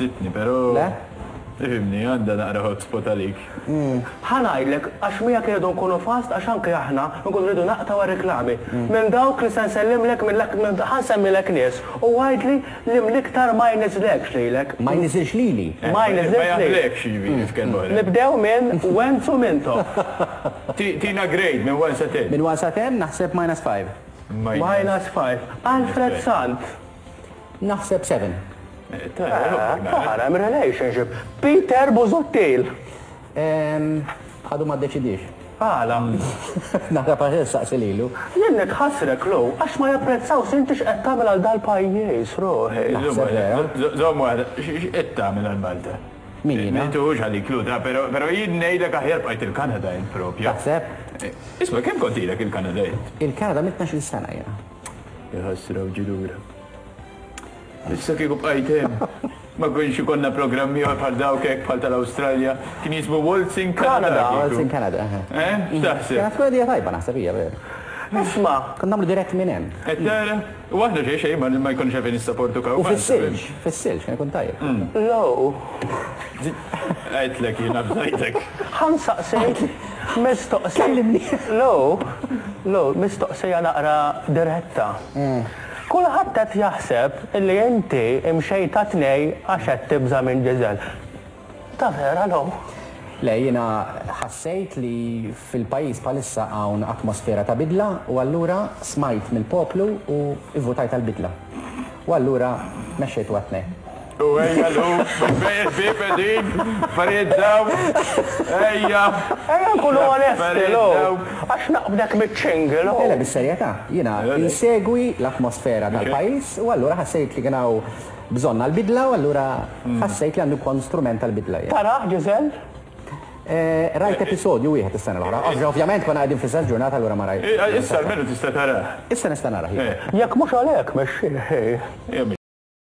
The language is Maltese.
Sitni, però. Le? Ifhimni, għandha naqra hotspot għalik. Ħa ngħidlek, għax miegħek irridu nkunu fast għax anke aħna nkunu rridu naqtgħu għar-reklami. Minn dawk li se nsellimlek minn l ħa nsemmilek nies u għidli li mill-iktar ma jniżżlekx lilek. Ma jniżżilx lili? Ma jniżżilx Ma lilek. jaħblekx, jiġifieri, f'kelma oħra. Nibdew minn Wenzu Mintoff. Tina grade minn 1 sa 10. Minn 1 sa 10 naħseb minus 5. Minus 5. Alfred Sant. Naħseb 7. Tara, hemm relationship. Peter Busuttil. Għadu ma ddeċidiex. Għala? Naħseb għax issaqsi lilu. Jien nitħassrek Lou, għax ma japprezzawx inti x'qed tagħmel għal dal-pajjiż, ruħi. Naħseb vera. Żomm waħda, x'qed tagħmel għal Malta? Min jiena? M'intuhux għalik Lou, ta' però jien ngħidlek aħjar bqajt il-Kanada int propja. Taħseb? Isma' kemm kont ilek il-Kanada int? Il-Kanada mit 12-il sena jiena. Jħassra u ġie lura. Issa kieku bqajt hemm, ma kienx ikollna programm ieħor bħal dawk hekk bħal tal-Awstralja, kien jismu Waltzing Canada. Waltzing Canada, eħe. Eh? X'taħseb? Kienet tkun idea tajba naħseb hija veru. Isma'! Konna nagħmlu dirett minn hemm. Qed tara? U aħna xejn xejn ma jkunx għalfejn nissaportu U fis-silġ, fis-silġ kien ikun tajjeb. Low. Għedtlek jiena bżajtek. Ħa nsaqsik mistoqsija. Kellimni. Low, low, mistoqsija naqra diretta. Kulħadd qed jaħseb li inti imxejt għat-tnej għax qed tibża' minn Giselle. Ta' vera Lou? Le, jiena ħassejt li fil-pajjiż bħalissa hawn atmosfera ta' bidla u allura smajt mill-poplu u ivvutajt għall-bidla. U allura mexxejtu għat-tnejn. U ejja Lou, bil-bejgħ ħbieb qegħdin, affarijiet dawn, ejja. Ejja nkunu onesti Lou, għax naqbdek miċ-ċingi Lou. Le, le, bis-serjetà, jiena insegwi l-atmosfera tal-pajjiż u allura ħassejt li kien hawn bżonn għall-bidla u allura ħassejt li għandu jkun strument għall-bidla jien. Tarah Giselle? Rajt episodju wieħed is-sena l-oħra. Ovvjament konna qegħdin fl-istess ġurnata allura ma rajt. Issa almenu tista' tarah. Issa nista' narah, iva. Jekk mhux għalhekk mexxih, hi.